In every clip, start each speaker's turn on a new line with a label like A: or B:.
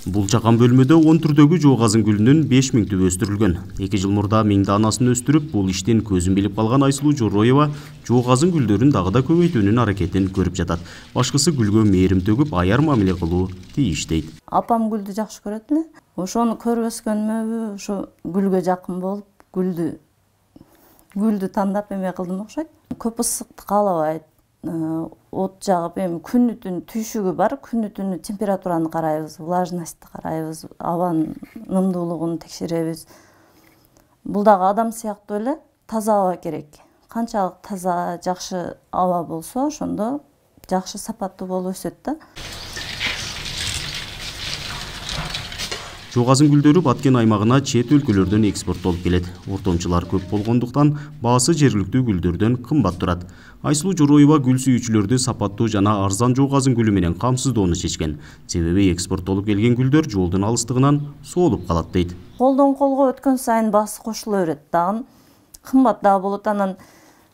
A: Бул чакан бөлмөдө 10 түрдөгү жоо казын гүлүнүн 5000 түбү өстүрүлгөн. 2 жыл мурда 1000 данасын өстүрүп, бул иштин көзүн билип калган Айсулуу Жороева жоо казын гүлдөрүн дагы да көбөйтүүнүн аракетин көрүп жатат. Башкысы гүлгө мээрим төгүп, аяр мамиле кылуу тийиш дейт.
B: Апам гүлдү жакшы көрөт эле. Ошону көрүп өскөнмө, ошо гүлгө жакын болуп, гүлдү тандап эме кылдым окшойт. Көп ысыкты каалабайт. От жагып, эми күнү-түн түйшүгү бар, күнү-түн температураны карайбыз, влажностьты карайбыз, абанын нымдуулугун текшеребиз. Бул дагы адам сыяктуу эле таза аба керек. Канчалык таза, жакшы аба болсо, ошондо жакшы сапаттуу болуп өсөт да.
A: Жоо казын гүлдөрү Баткен аймагына чет өлкөлөрдөн экспорттолуп келет. Ортомчулар көп болгондуктан баасы жергиликтүү гүлдөрдөн кымбат турат. Айсулуу Жороева гүл сүйүүчүлөрдү сапаттуу жана арзан жоо казын гүлү менен камсыздоону чечкен. Себеби экспорттолуп келген гүлдөр жолдун алыстыгынан соолуп калат дейт.
B: Колдон колго өткөн сайын баасы кошуло берет. Дагы кымбат дагы болот. Анан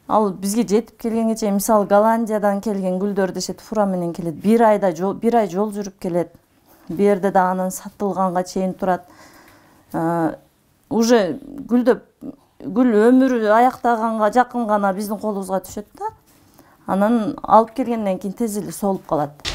B: ал бизге жетип келгенге чейин, мисалы Голландиядан келген гүлдөр дешет, фура менен келет. Бир ай жол жүрүп келет. Бу жерде да анан сатылганга чейин турат. Уже гүл өмүрү аяктаганга жакын гана биздин колубузга түшөт да. Анан алып келгенден кийин тез эле соолуп калат.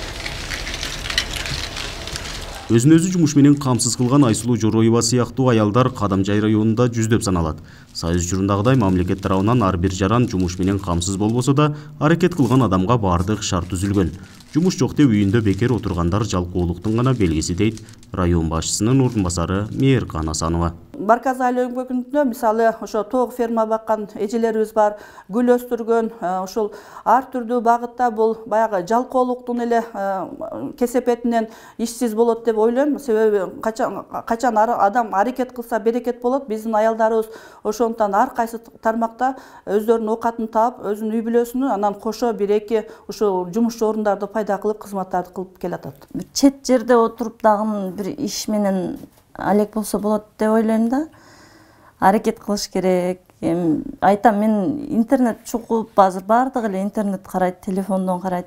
A: Өзүн өзү жумуш менен камсыз кылган Айсулуу Жороева сыяктуу аялдар Кадамжай районунда жүздөп саналат. Союз учурундагыдай мамлекет тарабынан ар бир жаран жумуш менен камсыз болбосо да, аракет кылган адамга бардык шарт түзүлгөн. Жумуш жок деп үйүндө бекер отургандар жалкоолуктун гана белгиси дейт район башчысынын ордун басары Мээркан Асанова.
C: Барказ айыл өңкөгүндө мисалы ошо тоог ферма баккан эжелерибиз бар, гүл өстүргөн, ошол ар түрдүү багытта бул баягы жалкоолуктун эле кесепетинен ишсиз болот деп ойлойм. Себеби качан адам аракет кылса берекет болот. Биздин аялдарыбыз ошондуктан ар кайсы тармакта өздөрүнүн оокатын таап, өзүнүн үй бүлөсүнүн анан кошо бир-эки ушул жумуш орундарды пайда кылып, кызматтарды кылып келатат.
B: Чет жерде отуруп дагы бир иш менен алек болсо болот деп ойлойм да. Аракет кылыш керек. Айтам, мен интернет чукуп, азыр бардыгы эле интернет карайт, телефондон карайт.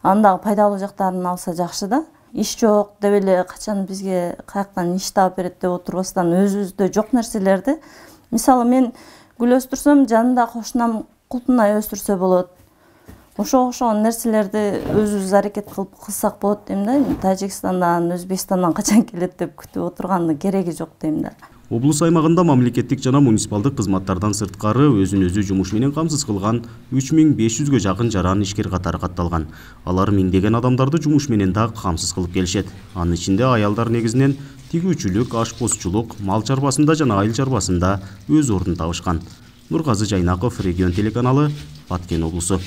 B: Андагы пайдалуу жактарын алса жакшы да. Иш жок деп эле качан бизге каяктан иш таап берет деп отурбастан өзүбүздө жок нерселерди. Мисалы мен гүл өстүрсөм, жанында кошунам култунай өстүрсө болот. Ошого окшогон нерселерди өзүбүз аракет кылсак болот дейм да. Тажикстандан, Өзбекстандан качан келет деп күтүп отургандын кереги жок дейм да.
A: Облус аймагында мамлекеттик жана муниципалдык кызматтардан сырткары өзүн өзү жумуш менен камсыз кылган 3500гө жакын жаран ишкер катары катталган. Алар миңдеген адамдарды жумуш менен да камсыз кылып келишет. Анын ичинде аялдар негизинен тигүүчүлүк, ашпозчулук, мал чарбасында жана айыл чарбасында өз ордун табышкан. Нургазы Жайнаков, Регион телеканалы, Баткен облусу.